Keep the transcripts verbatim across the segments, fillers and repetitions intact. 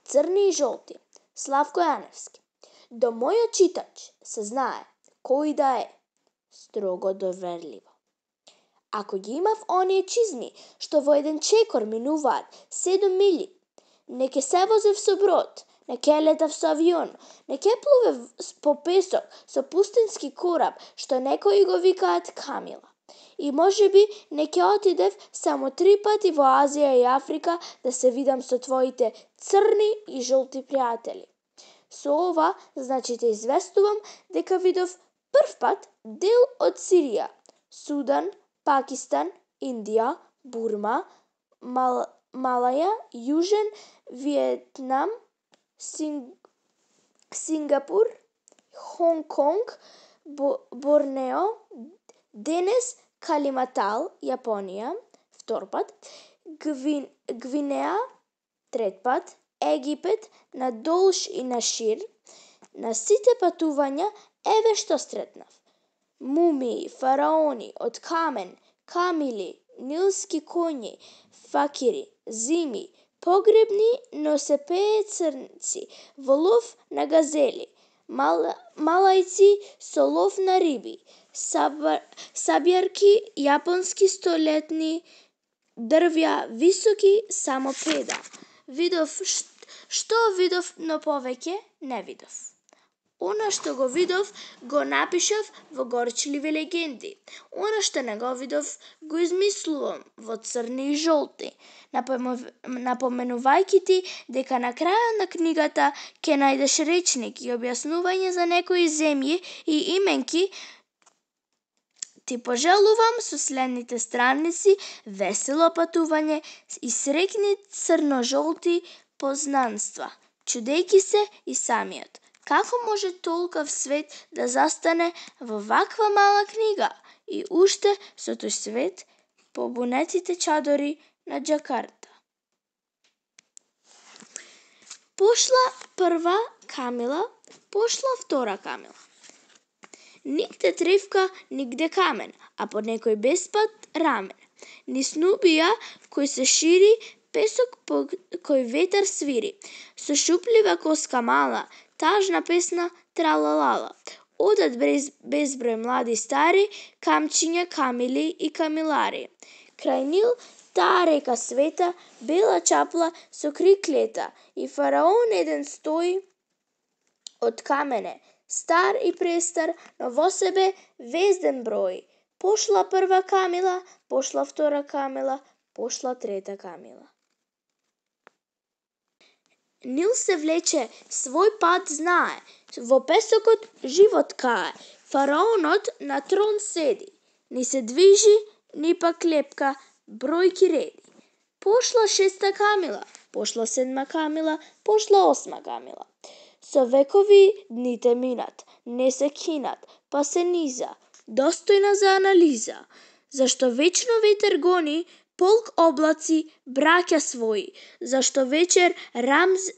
Црни и жолти. Славко Јаневски. До мојот читач се знае кој да е, строго доверливо. Ако ги имав оние чизми што во еден чекор минуваат седум милји, не ке се возев со брод, не ке летав со авион, не ке плувев по песок со пустински кораб што некои го викаат камила. И можеби не ке отидев само три пати во Азија и Африка да се видам со твоите црни и жолти пријатели. Со ова, значи те известувам дека видов прв пат дел од Сирија, Судан, Пакистан, Индија, Бурма, Мал, Малаја, Јужен Виетнам, Синг, Сингапур, Хонг Конг, Бо, Борнео, денес Калиматал, Јапонија, втор пат, Гвин, Гвинеа, трет пат, Египет, на долж и на шир. На сите патувања еве што сретнав. Мумии, фараони од камен, камили, нилски коњи, факири, зими, погребни носепеи црнци, во лов на газели, мал, малајци со лов на риби, сабар, сабјарки, јапонски столетни дрвја, високи само педа. Видов што видов, но повеќе не видов. Она што го видов, го напишав во горчливи легенди. Она што не го видов, го измислувам во црни и жолти, напоменувајќи ти дека на крајот на книгата ќе најдеш речник и објаснување за некои земји и именки. Ти пожелувам со следните страници весело патување и среќни црно-жолти познанства, чудејќи се и самиот. Како може толков свет да застане во ваква мала книга и уште со тој свет побунетите чадори на Џакарта. Пошла прва камила, пошла втора камила. Нигде тревка, нигде камен, а по некој беспат рамен. Низ Нубија кој се шири, песок по кој ветер свири. Со шуплива коска мала, тажна песна тралалала. Одат без, безброј млади стари, камчиња, камили и камилари. Крај Нил таа река света, бела чапла со крик лета, и фараон еден стои од камене, стар и престар, но во себе везден број. Пошла прва камила, пошла втора камила, пошла трета камила. Нил се влече, свој пат знае, во песокот живот кае. Фараонот на трон седи, ни се движи, ни пак лепка, бројки реди. Пошла шеста камила, пошла седма камила, пошла осма камила. Со векови дните минат, не се кинат, па се низа, достојна за анализа. Зашто вечно ветер гони полк облаци браќа своји, зашто вечер Рамз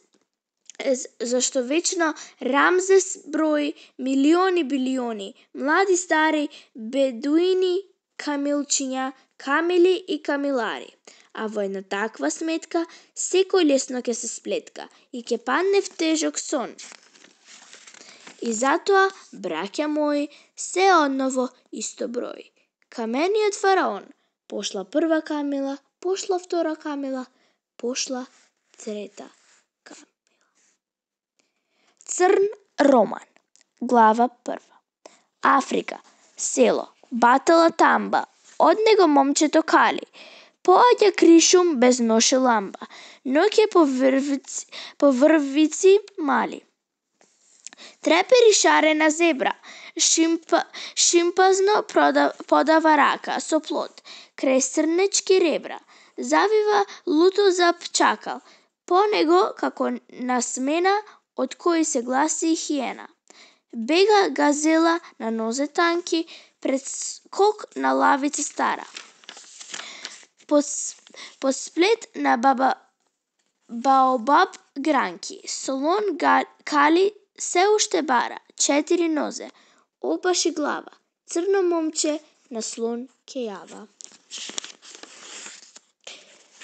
зашто вечно Рамзес брои милиони билиони, млади стари, бедуини, камилчиња, камили и камилари. А во една таква сметка, секој лесно ќе се сплетка и ќе падне в тежок сон. И затоа, браќа мои, се одново исто број. Камениот фараон, пошла прва камила, пошла втора камила, пошла трета камила. Црн роман. Глава прва. Африка. Село. Батала тамба. Од него момчето кали. Поаѓа кришум без ноше ламба. Ноќе по врвици, по врвици мали. Трепери шарена зебра. Шимпа, шимпазно прода, подава рака со плод. Крај срнечки ребра. Завива лутозап чакал. По него, како на смена, од кој се гласи хиена. Бега газела на нозе танки, пред скок на лавица стара. По, по сплет на баба баобаб гранки. Солон га, кали се уште бара, четири нозе, опаши глава. Црно момче на слон ке јава.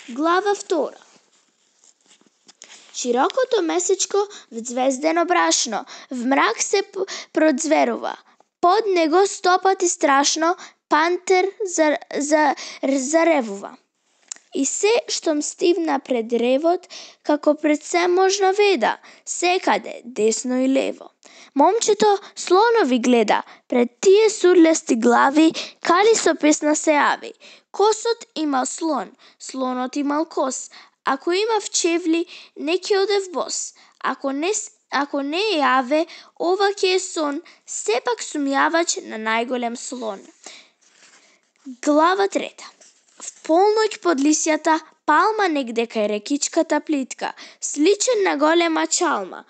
Глава втора. Широкото месечко взвездено брашно, в мрак се продзверува. Под него стопати страшно, пантер за, за, заревува. И се штом стивна пред ревот, како пред се можна веда, секаде, десно и лево. Момчето слонови гледа, пред тие сурлести глави, кали со песна се јави. Косот имал слон, слонот имал кос, ако имав чевли, не ќе одев бос. Ако не, ако не е јаве, ова ќе е сон, сепак сум јавач на најголем слон. Глава трета. В полноќ под лисјата, палма негде кај рекичката плитка, сличен на голема чалма.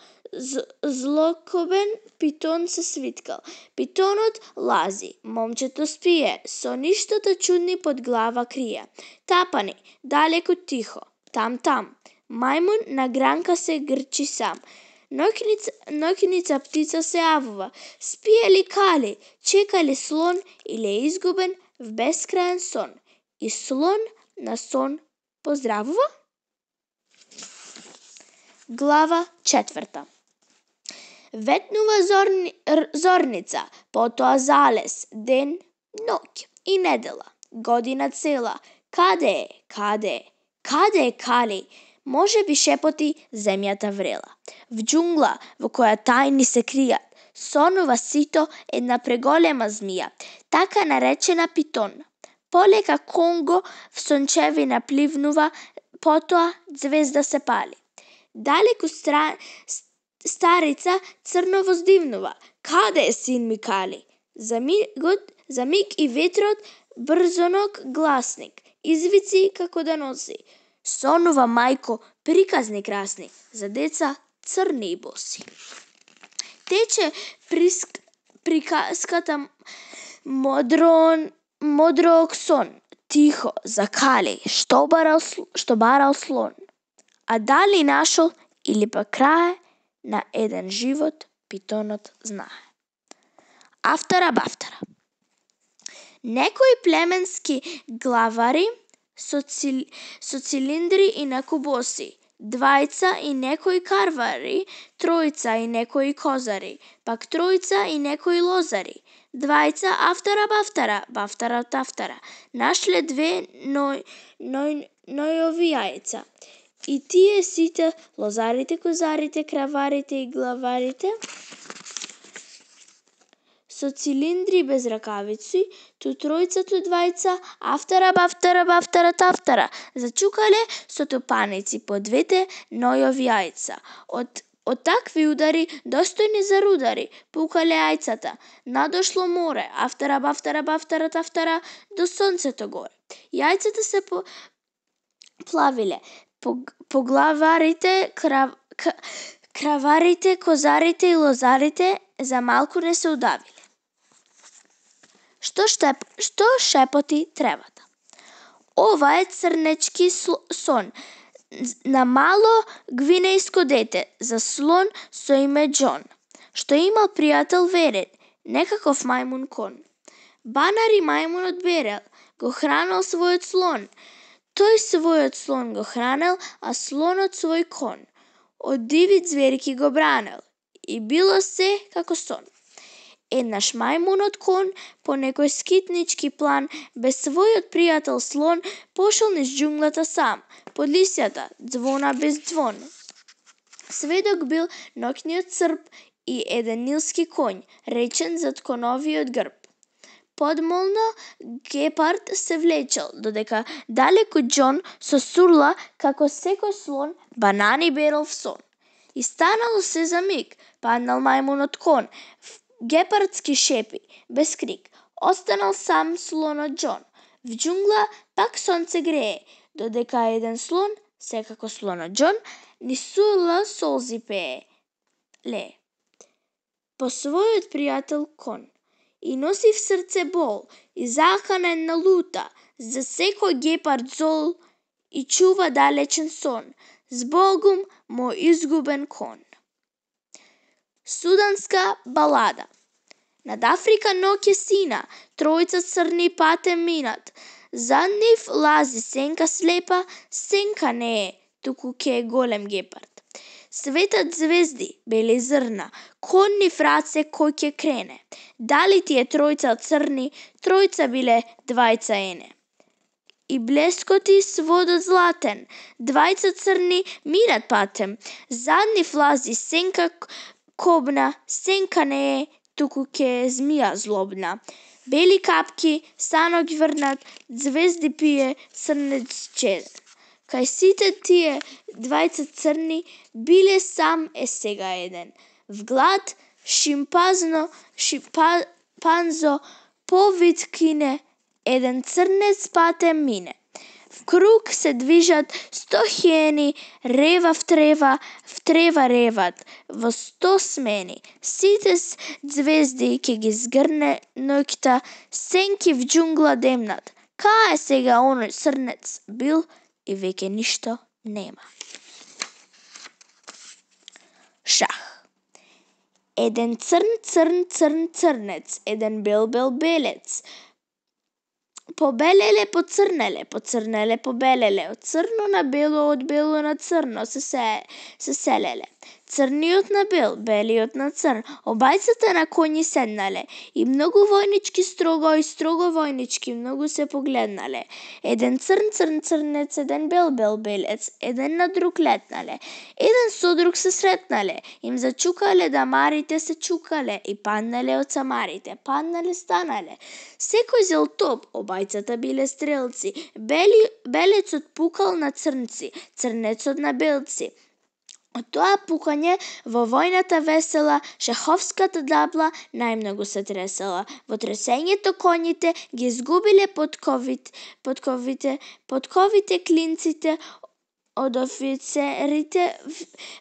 Злокобен питон се свиткал. Питонот лази, момчето спие, со ништото чудни под глава крие. Тапани, далеку тихо, там-там. Мајмун на гранка се грчи сам. Ноќница, ноќница птица се јавува. Спие ли кали, чека ли слон или е изгубен в бескрајен сон? И слон на сон поздравува? Глава четврта. Ветнува зорни, зорница, потоа залез, ден, ноќ и недела, година цела. Каде е, каде е, каде е кали? Може би шепоти земјата врела. В џунгла во која тајни се кријат, сонува сито една преголема змија, така наречена питон. Полека Конго в сончевина пливнува, потоа звезда се пали. Далеку стра... старица црно воздивнува. Каде е син ми кали? За мигот, за миг и ветрот брзоног гласник, извици како да носи. Сонува мајко, приказни красни, за деца црни и боси. Тече приск... приказката модрон Модрог сон, тихо, за кали, што барал, што барал слон. А дали нашол или па крај на еден живот, питонот знае. Афтара бафтара. Некои племенски главари со, цил, со цилиндри и накубоси, двајца и некои карвари, тројца и некои козари, пак тројца и некои лозари, двајца афтара бафтара, бафтара тафтара, нашле две ној, ној, нојови јајца. И тие сите, лозарите, козарите, краварите и главарите, со цилиндри без ракавици, ту тројца, ту двајца, афтара бафтара, бафтара тафтара, зачукале со тупаници по двете нојови јајца. Од Од такви удари, достојни за рудари, пукале јајцата. Надошло море, афтара бафтара бафтара тафтара, до сонцето горе. Јајцата се по... плавиле, по, по главарите, крав... краварите, козарите и лозарите за малку не се удавиле. Што, штеп... Што шепоти тревата? Ова е црнечки сон, на мало гвинејско дете, за слон со име Џон, што имал пријател верен, некаков мајмун кон. Банари мајмунот берел, го хранел својот слон. Тој својот слон го хранел, а слонот свој кон. Од диви зверки го бранел, и било се како сон. Еднаш мајмунот кон, по некој скитнички план, без својот пријател слон, пошол низ џунглата сам, под лисјата, ѕвона без ѕвон. Сведок бил ноќниот црп и еден нилски коњ, речен зад коновиот грб. Подмолно гепард се влечел, додека далеку Џон со сурла, како секој слон, банани берел в сон. И станало се за миг, паднал мајмунот кон, гепардски шепи, без крик. Останал сам слонот Џон. В џунгла пак сонце грее, додека еден слон, секако слонот Џон, низ сурла солзи пее. Ле. По својот пријател кон. И носи в срце бол, и заканен на лута, за секој гепард зол, и чува далечен сон, збогум мој изгубен кон. Суданска балада. Над Африка ноќе сина, тројца црни патем минат. Зад нив лази сенка слепа, сенка не е, туку ке е голем гепард. Светат звезди, бели зрна, конни фраце кој ќе крене. Дали тие тројца црни, тројца биле двајца ене. И блескоти сводот златен, двајца црни минат патем. Задни влази сенка кобна, сенка не е, туку ке е змија злобна. Бели капки, станок врнат, звезди пие, црнец чеден. Кај сите тие двајца црни биле сам е сега еден. Вглад шимпазно, шимпанзо повид кине, еден црнец патем мине. В круг се движат сто хиени, рева в трева, в трева реват, во сто смени. Сите звезди ке ги згрне ноќта, сенки в џунгла демнат. Кај е сега оној црнец бил и веќе ништо нема. Шах. Еден црн, црн, црн, црнец, еден бел, бел, белец. Побелеле, поцрнеле, поцрнеле, побелеле, од црно на бело, од бело на црно се, се, се селеле. Црниот на бел, белиот на црн, обајцата на коњи седнале, и многу војнички строго и строго војнички многу се погледнале. Еден црн, црн, црнец, еден бел, бел, белец, еден на друг летнале. Еден со друг се сретнале, им зачукале дамарите се чукале и паднале од самарите, паднале станале. Секој зел топ, обајцата биле стрелци, бели, белецот пукал на црнци, црнецот на белци. Од тоа пукање во војната весела, шаховската дабла најмногу се тресела. Во тресењето коњите ги изгубиле подковите, подковите, подковите клинците од офицерите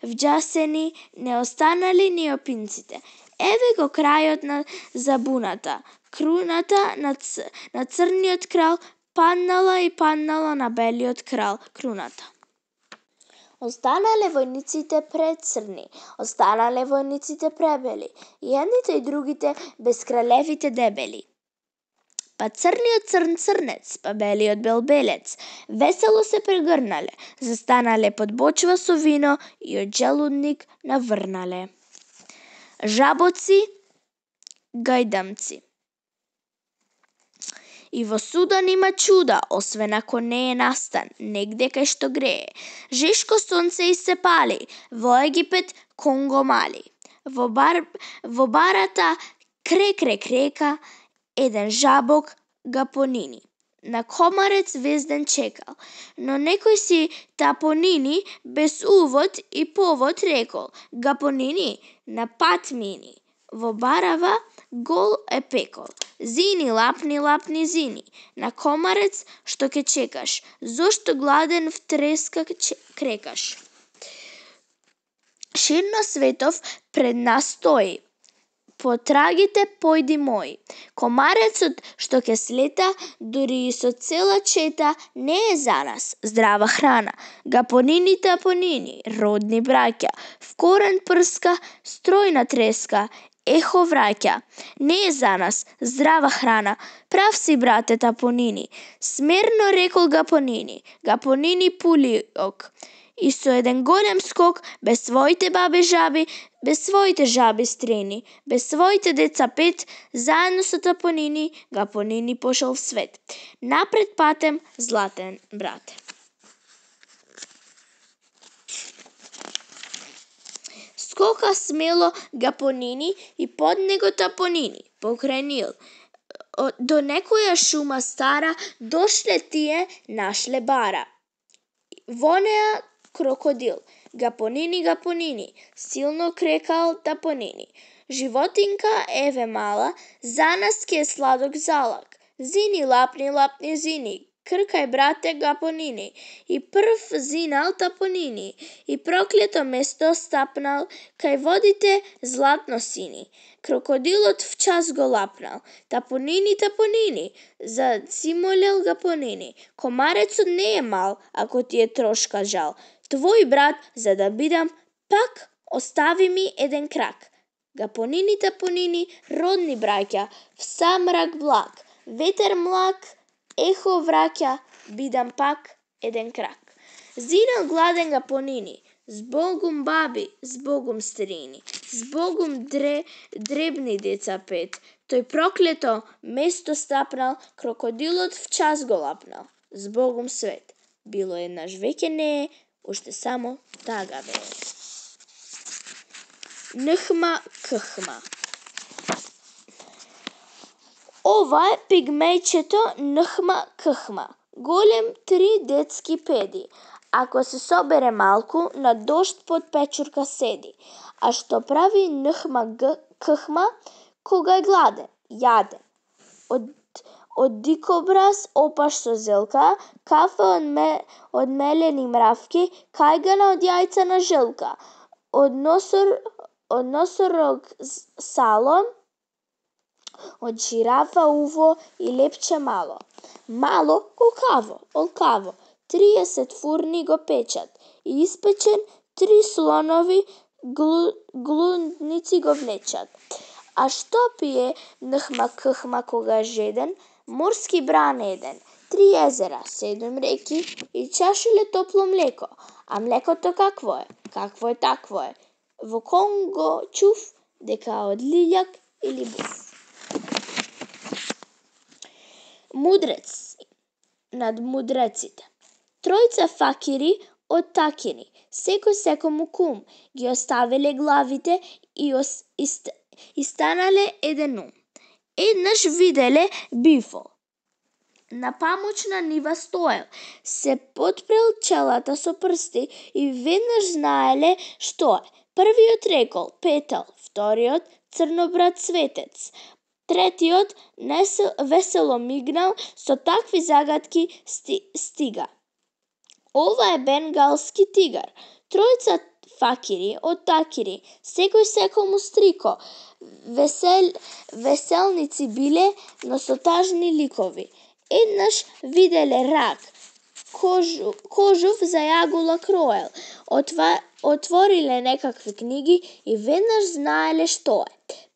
вџасени, не останали ни опинците. Еве го крајот на забуната. Круната на, ц... на црниот крал паднала и паднала на белиот крал круната. Останале војниците прецрни, останале војниците пребели, и едните и другите без кралевите дебели. Па црниот црн црнец, па белиот бел белец, весело се прегрнале, застанале под бочва со вино и од желудник наврнале. Жабоци, гајдамци. И во судан има чуда, освен ако не е настан, негде кај што грее. Жешко сонце и се пали, во Египет Конго мали. Во, бар, во барата крек крек река, еден жабок га понини. На комарец везден чекал, но некој си тапонини без увод и повод рекол, га понини, на пат мини. Во барава гол е пекол. Зини, лапни, лапни, зини. На комарец што ке чекаш, зошто гладен в треска крекаш. Ширно светов пред нас стои, потрагите појди мои. Комарецот што ке слета, дури и со цела чета, не е за нас здрава храна. Гапонини тапонини, родни браќа, в корен прска, стројна треска, ехо враќа. Не е за нас здрава храна, прав си брате тапонини. Смерно рекол Гапонини, Гапонини пулиок. И со еден голем скок, без своите бабе жаби, без своите жаби стрени, без своите деца пет, заедно со тапонини, Гапонини пошол в свет. Напред патем, златен брате. Скока смело Гапонини и под него тапонини, покрај Нил. До некоја шума стара дошле тие, нашле бара. Во неа крокодил. Гапонини, Гапонини, силно крекал тапонини. Животинка еве мала, за нас ке е сладок залак. Зини, лапни, лапни, зини, кркај брате Гапонини. И прв зинал тапонини, и проклето место стапнал, кај водите златно сини. Крокодилот в час го лапнал. Тапонини, тапонини, зацимолел Гапонини. Комарецот не е мал, ако ти е трошка жал. Твој брат, за да бидам, пак остави ми еден крак. Гапонини, тапонини, родни браќа, в сам мрак благ, ветер млак, ехо враќа, бидам пак еден крак. Зинал гладен Гапонини, Збогум баби, збогум старини, збогум дре, дребни деца пет. Тој проклето место стапнал, крокодилот в час го лапнал. Збогум свет, било еднаш веќе не е, уште само тага бе. Нхма кхма. Ова е пигмејчето Нхма кхма. Голем три детски педи. Ако се собере малку, на дошт под печурка седи. А што прави Нхма кхма кога е гладен? Јаден. Од, од дикобраз опаш со зелка, кафе од, ме, од мелени мравки, кајгана од јајца на жилка. Од носор, од носорог сало, од жирафа уво и лепче мало. Мало колкаво, олкаво, триесет фурни го печат и испечен три слонови глу, глудници го влечат. А што пие Нхма кхма кога е жеден? Морски бран еден, три езера, седум реки и чашуле топло млеко. А млекото какво е? Какво е такво е? Во Конго чув дека од лилјак или буф. Мудрец над мудреците. Тројца факири од такини, секој секому кум, ги оставиле главите и, ос, и, и станале еден ум. Еднаш виделе бифол. На памучна нива стоел, се потпрел челата со прсти и веднаш знаеле што е. Првиот рекол петал, вториот црнобрад светец, третиот несел, весело мигнал, со такви загадки сти, стига. Ова е бенгалски тигар. Тројца факири од такири, секој секому стрико. Весел, веселници биле, но со тажни ликови. Еднаш виделе рак, кожу, кожув за јагула кроел. Отва, отвориле некакви книги и веднаш знаеле што е.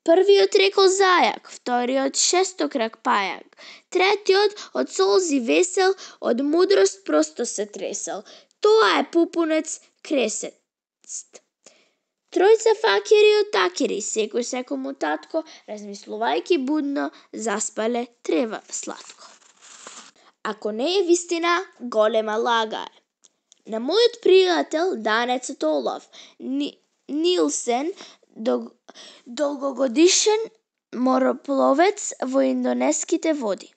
Првиот рекол зајак, вториот шестокрак пајак, третиот од солзи весел, од мудрост просто се тресел. Тоа е пупунец кресест. Тројца факири од такири, секој секому татко, размислувајќи будно, заспале трева сладко. Ако не е вистина, голема лага е. На мојот пријател Данецот Олаф Нилсен, долгогодишен моропловец во индонеските води.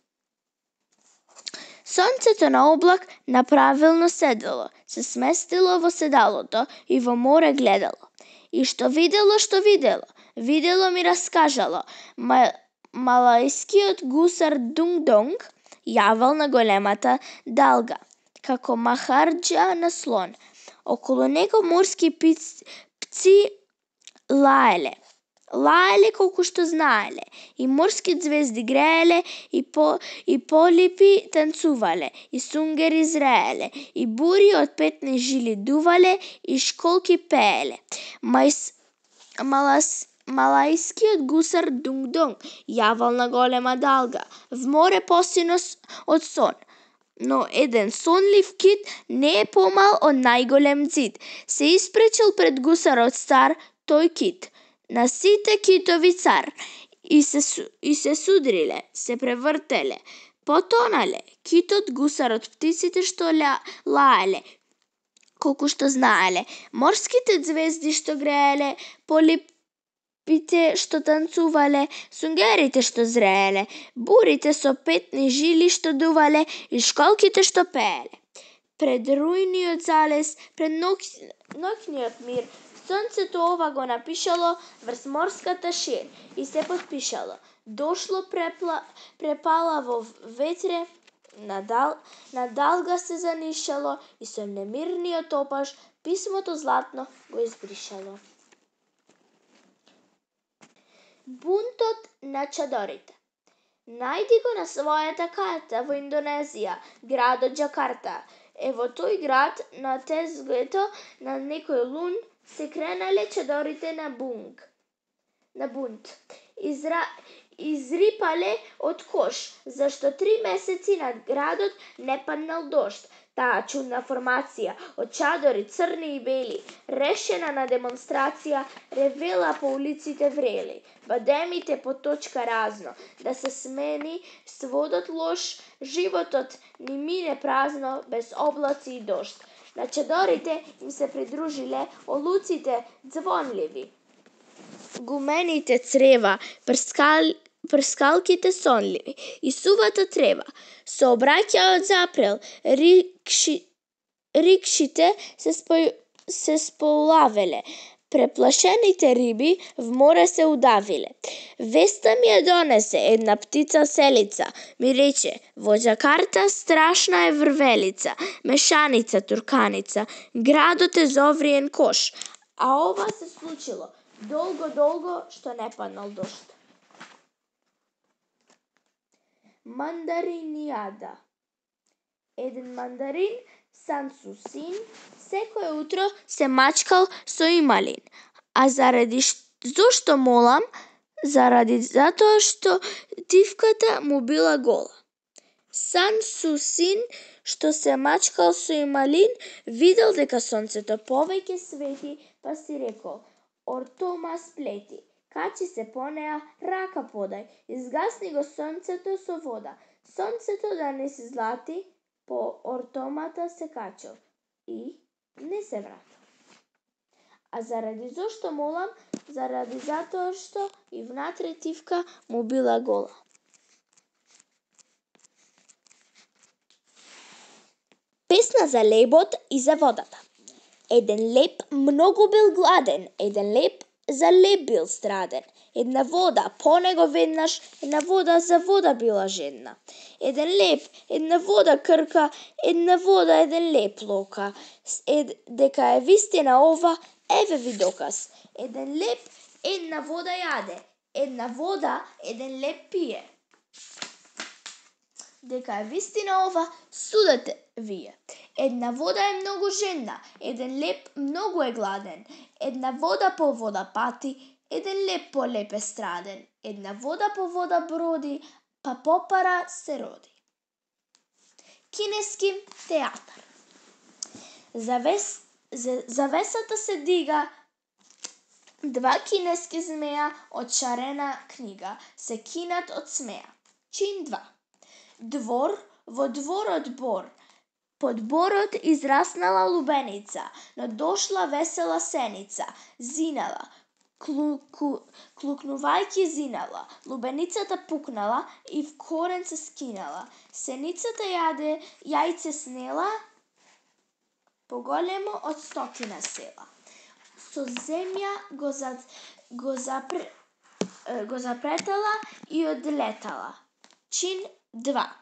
Сонцето на облак направилно седело, се сместило во седалото и во море гледало. И што видело, што видело, видело ми раскажало. Малајскиот гусар Дунгдонг јавал на големата далга, како махарџа на слон. Околу него морски пци лаеле. Лаеле колку што знаеле, и морски звезди грееле, и, по, и полипи танцувале, и сунгери зрееле, и бури од петни жили дувале, и школки пееле. Мајс, малас, малајскиот гусар Дунгдонг јавал на голема далга, в море посино од сон. Но еден сонлив кит не е помал од најголем ѕид. Се испречил пред гусарот стар, тој кит, на сите китови цар, и се, и се судриле, се превртеле, потонале, китот, гусарот, птиците што ля, лаеле, колку што знаеле, морските звезди што грееле, полипите што танцувале, сунгерите што зрееле, бурите со петни жили што дувале и школките што пееле. Пред рујниот залез, пред ноќниот мир, сонцето ова го напишало врз морската шир и се потпишало. Дошло препла, препалаво ветре, надал, надалга се занишало и со немирниот опаш писмото златно го избришало. Бунтот на чадорите. Најди го на својата карта во Индонезија, градот Џакарта. Е во тој град на тезгето на некој лун се кренале чадорите на бунг, на бунт. Изра, изрипале од кош, зашто три месеци над градот не паднал дожд. Таа чудна формација од чадори црни и бели, решена на демонстрација, ревела по улиците врели, бадемите по точка разно, да се смени сводот лош, животот ни мине празно, без облаци и дожд. На чадорите им се придружиле олуците звонливи, гумените црева, прскал, прскалките сонливи и сувата трева. Се обраќаат запрел, рикши, рикшите се, спо, се сполавеле, преплашените риби в море се удавиле. Веста ми ја донесе една птица селица, ми рече, во Џакарта страшна е врвелица, мешаница, турканица, градот е зовриен кош, а ова се случило долго-долго што не паднал дожд. Мандаринијада. Еден мандарин, Сансу син, секое утро се мачкал со ималин. А заради зошто молам? Заради затоа што тивката му била гола. Сансу син, што се мачкал со ималин, видел дека сонцето повеќе свети, па си рекол: Ортома сплети, качи се по неа, рака подај, изгасни го сонцето со вода. Сонцето да не се злати, по ортомата се качил и не се вратил. А заради зошто молам? Заради затоа што и внатре тивка му била гола. Песна за лебот и за водата. Еден леб многу бил гладен, еден леб за леб бил страден. Една вода, по него веднаш, една вода за вода била жедна. Еден леб, една вода крка, една вода, еден леб лока. Ед, дека е вистина ова, еве ви доказ. Еден леб, една вода јаде, една вода, еден леб пие. Дека е вистина ова, судете вие. Една вода е многу жедна, еден леб многу е гладен. Една вода по вода пати, еден леб по леб е страден. Една вода по вода броди, па попара се роди. Кинески театар. Завес, завесата се дига, два кинески змеја од шарена книга се кинат од смеа. Чин два. Двор, во дворот бор, под борот израснала лубеница, но дошла весела сеница, зинала, клуку, клукнувајќи зинала, лубеницата пукнала и в корен се скинала. Сеницата јаде, јајце снела, поголемо од стотина села. Со земја го, за, го, запре, го запретала и одлетала. Чин два.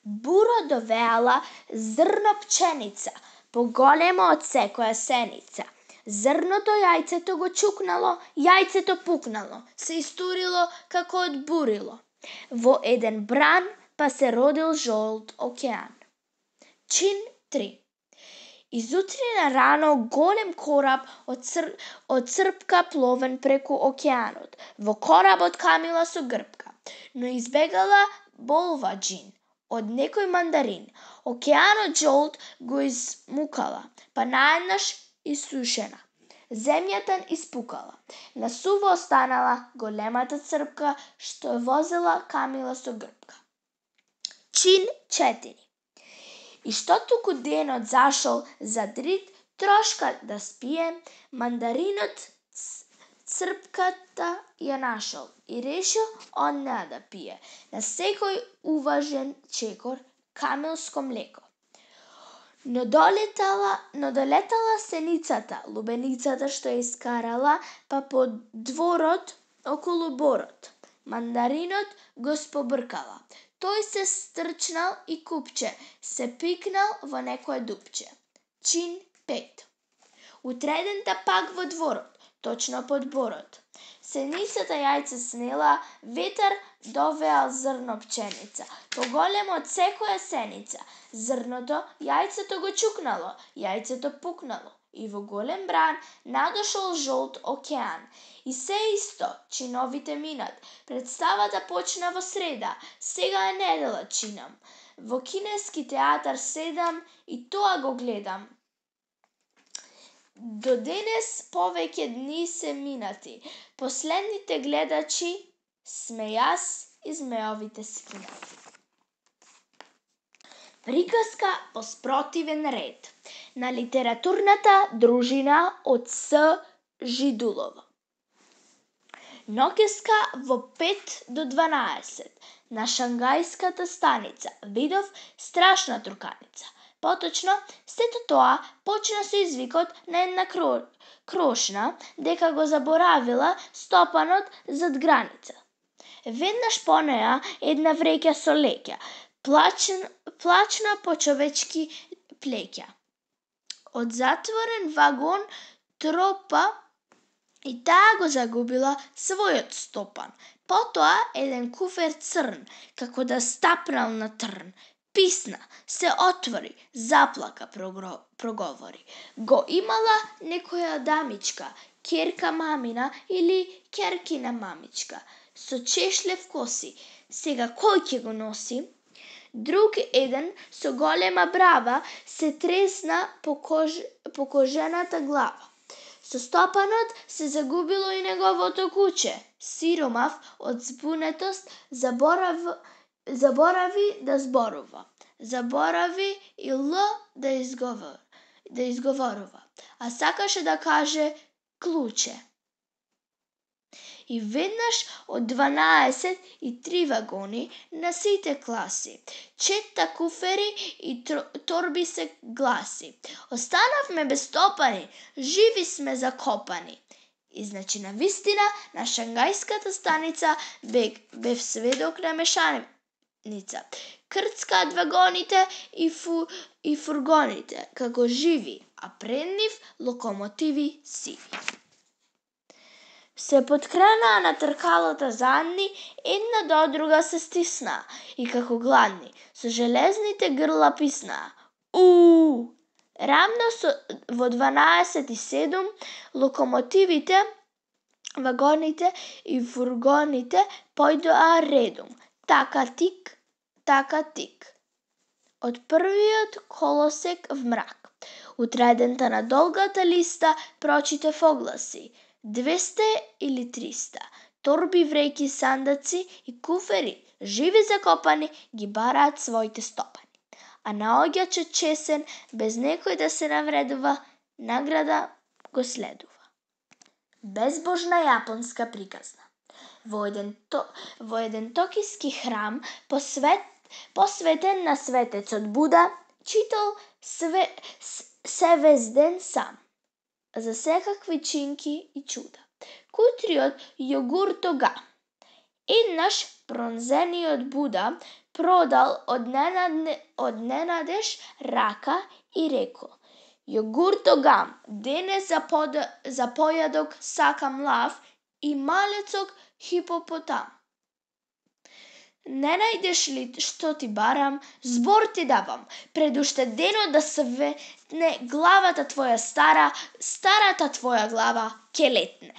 Буро довеала зрно пченица, поголемо од секоја сеница. Зрното јајцето го чукнало, јајцето пукнало, се истурило како од бурило. Во еден бран па се родил жолт океан. Чин три. Изутрина рано голем кораб од, цр... од црпка пловен преку океанот. Во коработ камила со грбка, но избегала болва джин од некој мандарин. Океанот жолт го измукала, па наеднаш исушена. Земјата испукала. На суво останала големата црпка што возела камила со грбка. Чин четири. И што туку денот зашол за дрит трошка да спие, мандаринот црпката ја нашол и решил он неа да пие. На секој уважен чекор камилско млеко. Но долетала, но долетала сеницата, лубеницата што ја искарала, па по дворот околу борот. Мандаринот го спобркала. Тој се стрчнал и купче, се пикнал во некое дупче. Чин пет. Утредента пак во дворот, точно под борот. Сеницата јајце снела, ветар довеал зрно пченица, поголемо од секоја сеница. Зрното, јајцето го чукнало, јајцето пукнало. И во голем бран надошол жолт океан. И се исто, чиновите минат. Представата почна во среда, сега е недела чинам. Во кинески театар седам и тоа го гледам. До денес повеќе дни се минати. Последните гледачи сме јас и змеовите скинати. Приказка по спротивен ред на литературната дружина од С. Жидулова. Ноќеска во пет до дванаесет на Шангајската станица видов страшна труканица. Поточно, сето тоа почна со извикот на една кро... крошна дека го заборавила стопанот зад граница. Веднаш по неа една вреќа со леќа, плачн... плачна по човечки плеќа. Од затворен вагон тропа и таа го загубила својот стопан. Потоа еден куфер црн, како да стапнал на трн. Писна, се отвори, заплака, проговори. Го имала некоја дамичка, ќерка мамина или ќеркина мамичка, со чешлев коси. Сега кој ќе го носи? Друг еден со голема брава се тресна по, кож... по кожената глава. Со стопанот се загубило и неговото куче. Сиромав од збунетост заборав... заборави да зборува. Заборави и Л да, изговор... да изговорува. А сакаше да каже клуче. И веднаш од дванаесет и три вагони на сите класи, четта куфери и торби се гласи. Останавме без стопани, живи сме закопани. И значи на вистина на Шангајската станица бев, бев сведок на мешаница. Крцкаат вагоните и, фу, и фургоните, како живи, а пред нив локомотиви сиви. Се подкренаа на тркалото задни, една до друга се стиснаа и како гладни, со железните грла писнаа. У! Рамно со, во дванаесет и седум локомотивите, вагоните и фургоните појдоа редом. Така тик, така тик. Од првиот колосек в мрак. Утредента на долгата листа прочитав огласи. двесте или триста. Торби, вреќи, сандаци и куфери, живи закопани, ги бараат своите стопани. А наоѓачот чесен, без некој да се навредува, награда го следува. Безбожна јапонска приказна. Во еден, то, во еден токиски храм посвет, посветен на светецот Буда, читал све, севезден сам за секакви чинки и чуда. Кутриот јогуртога. Еднаш пронзениот Буда продал од, ненадне, од ненадеж рака и реко: јогуртогам, денес за, под, за појадок сакам лав и малецок хипопотам. Не најдеш ли што ти барам, збор ти давам, пред уште денот да светне главата твоја стара, старата твоја глава ќе летне.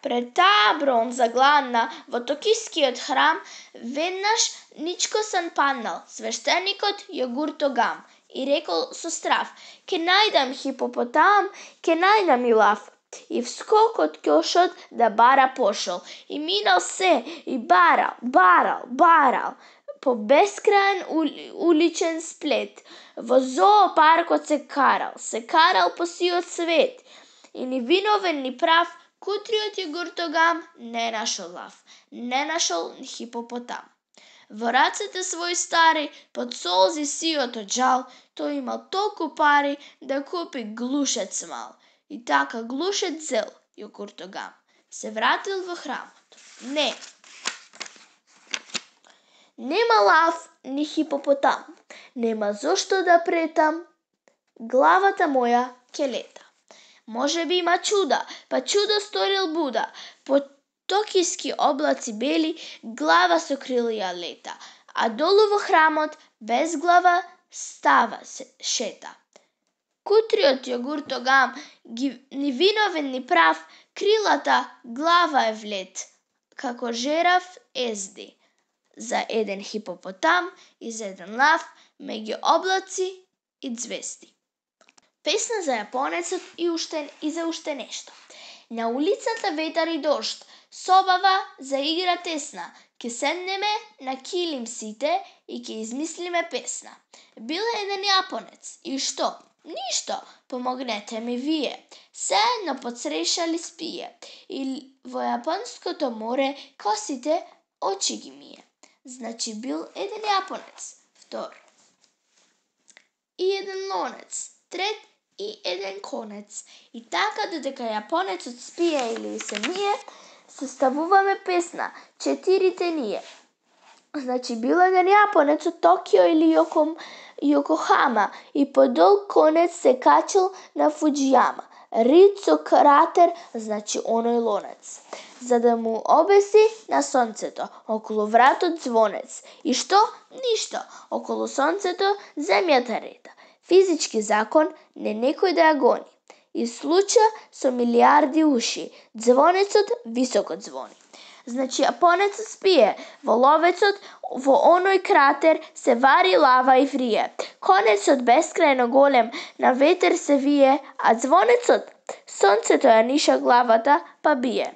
Пред таа бронза гладна во токискиот храм веднаш ничкосан паднал свештеникот јогуртогам и рекол со страв: ке најдам хипопотам, ке најдам и лав. И вскок од ќошот да бара пошол. И минал се, и барал, барал, барал, по бескрајен ули, уличен сплет. Во зоопаркот се карал, се карал по сиот свет. И ни виновен ни прав, кутриот јогуртогам не нашол лав, не нашол ни хипопотам. Во рацете свој стари, под солзи сиот од жал, тој имал толку пари да купи глушец мал. И така глушец зел јогуртогам. Се вратил во храмот. Не. Нема лав ни хипопотам. Нема зошто да претам. Главата моја ќе лета. Може би има чуда, па чудо сторил Буда. По токиски облаци бели, глава со крилја лета. А долу во храмот, без глава, става се шета. Кутриот јогуртогам, ни виновен ни прав, крилата глава е влет, како жерав езди. за еден хипопотам и за еден лав меѓу облаци и звезди. Песна за јапонецот и уште и за уште нешто. На улицата ветар и дожд, собава заигра тесна, ке седнеме на килим сите и ке измислиме песна. Бил еден јапонец и што? Ништо, помогнете ми вие. Сеедно подсрешали спие и во јапонското море косите очи ги мие. Значи бил еден јапонец, втор. И еден лонец, трет и еден конец. И така додека јапонецот спие или се мие, составуваме песна, четирите ние. Значи бил еден јапонец од Токио или Јоком, Јокохама и по долг конец се качил на Фуџијама. Рид со кратер, значи оној лонец, за да му обеси на сонцето, околу вратот звонец. И што? Ништо, околу сонцето земјата реда. Физички закон, не некој да ја гони. И случа со милиарди уши, звонецот високо звони. Значи јапонецот спие, во ловецот, во оној кратер се вари лава и врие. Конецот бескрајно голем на ветер се вие, а звонецот, сонцето ја ниша главата, па бие.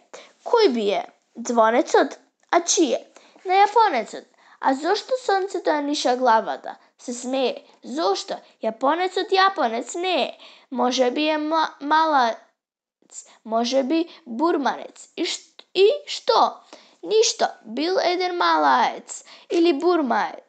Кој бие? Звонецот? А чие? На јапонецот. А зошто сонцето ја ниша главата? Се смее. Зошто? Јапонецот јапонец не е. Може би е малаец, може би бурманец. И, ш... и што? Ништо. Бил еден малаец или бурмаец,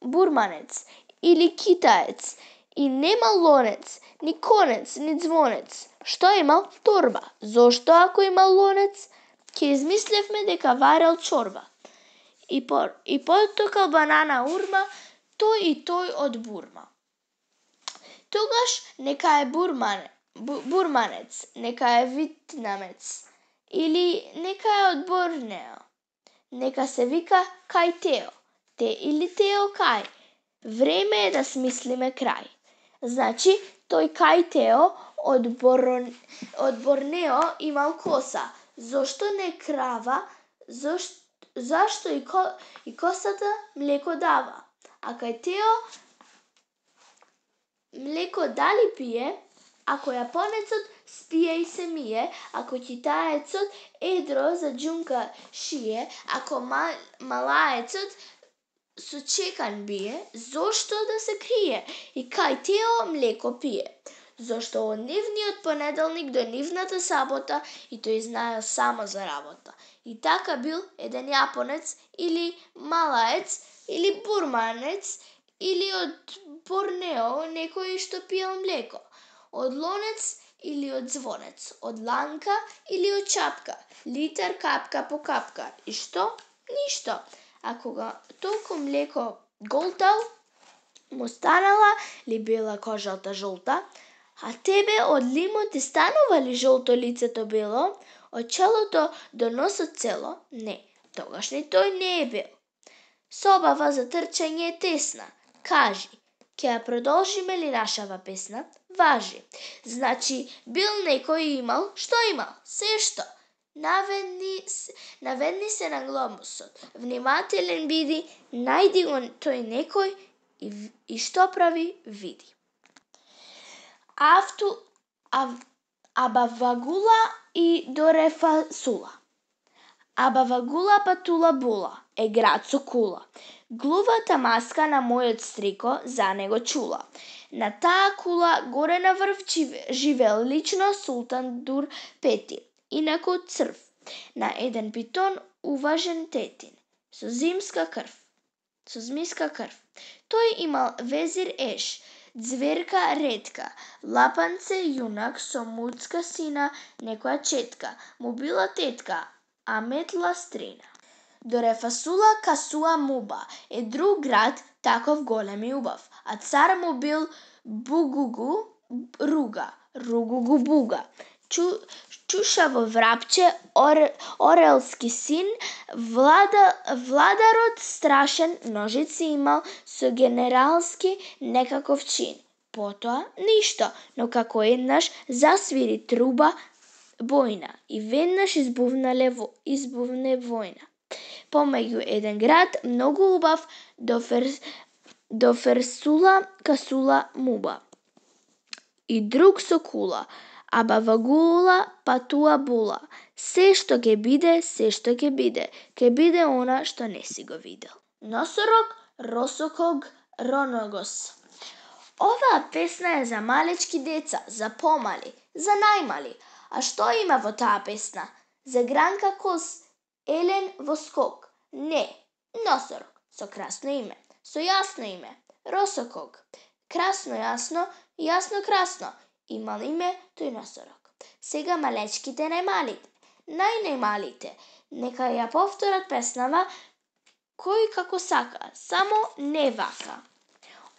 бурманец или китаец. И немал лонец, ни конец, ни звонец. Што имал? Торба. Зошто ако имал лонец? Ке измислевме дека варел чорба. И, по, и потокал банана урма, тој и тој од Бурма. Тогаш нека е бурмане, бу, бурманец, нека е витнамец, или нека е од Борнео. Нека се вика Кај Тео, те или Тео Кај. Време е да смислиме крај. Значи, тој Кај Тео од, Борон, од Борнео имал коса. Зошто не крава? Зошто, зашто и, ко, и косата млеко дава? А кај Тео млеко дали пие, ако јапонецот спие и се мие, ако китаецот едро за џунка шие, ако мал, малаецот со чекан бие, зошто да се крие? И кај Тео млеко пие. Зошто од нивниот понеделник до нивната сабота и тој знаел само за работа. И така бил еден јапонец или малаец или бурманец или од Борнео некој што пиел млеко. Од лонец или од звонец. Од ланка или од чапка. Литар капка по капка. И што? Ништо. А кога толку млеко голтал, му станала ли бела кожата жолта? А тебе од лимо ти станува ли жолто лицето бело? Од челото до носот цело? Не, тогаш ни тој не е бел. Собава за трчање е тесна. Кажи, ќе ја продолжиме ли нашава песна? Важи. Значи, бил некој имал, што имал? Се што? Наведни, наведни се на глобусот. Внимателен биди, најди го тој некој и, и што прави, види. Авту, ав, абавагула и дорефасула. Абавагула патула була, е град со кула. Глувата маска на мојот стрико за него чула. На таа кула горе на врв живел лично султан Дур Петин, инаку црв. На еден питон уважен тетин, со зимска крв. Со змиска крв. Тој имал везир Еш, ѕверка ретка, лапанце јунак со муцка сина, некоја четка, му била тетка, а метла стрина. Дорефасула касуа муба е друг град, таков голем и убав, а цар му бил Бугугу Руга, Ругугу Буга. Чу, чушаво врапче, ор, орелски син, влада, владарот страшен ножици имал со генералски некаков чин. Потоа ништо, но како еднаш засвири труба бојна и веднаш избувнале избувне војна. Помеѓу еден град многу убав до фер до ферсула касула муба. И друг со кула, аба во гула патуа була. Се што ќе биде, се што ќе биде, ќе биде она што не си го видел. Носорог, росоког, роногос. Оваа песна е за малечки деца, за помали, за најмали. А што има во таа песна? За Гранка Коз, Елен во скок? Не, носорог со красно име, со јасно име, росоког. Красно јасно, јасно красно, имал име тој носорог. Сега малечките најмалите, најнајмалите, нека ја повторат песнава кој како сака, само не вака.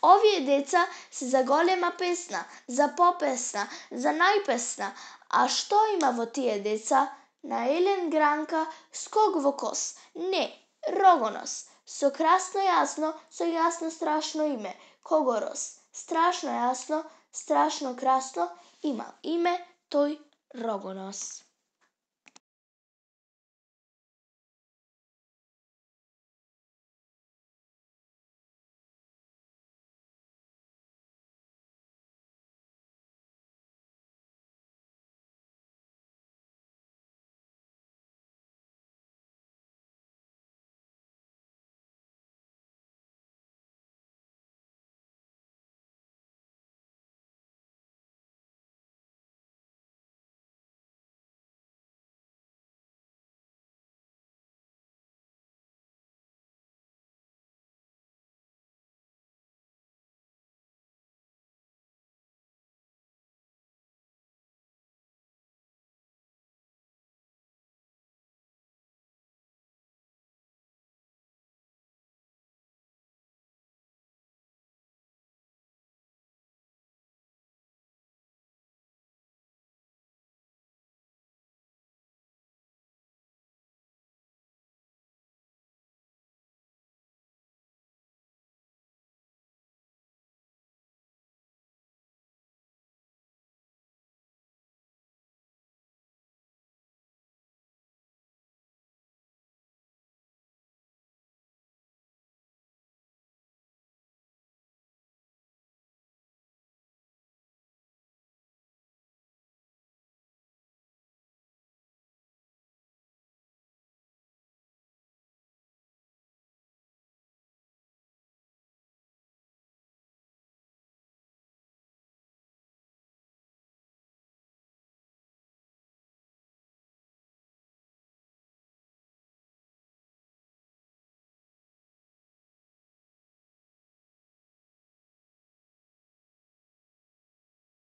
Овие деца се за голема песна, за попесна, за најпесна. А што има во тие деца? На Елен Гранка скок во коз? Не, рогонос. Со красно јасно, со јасно страшно име, Когорос. Страшно јасно, страшно красно, имал име тој Рогонос.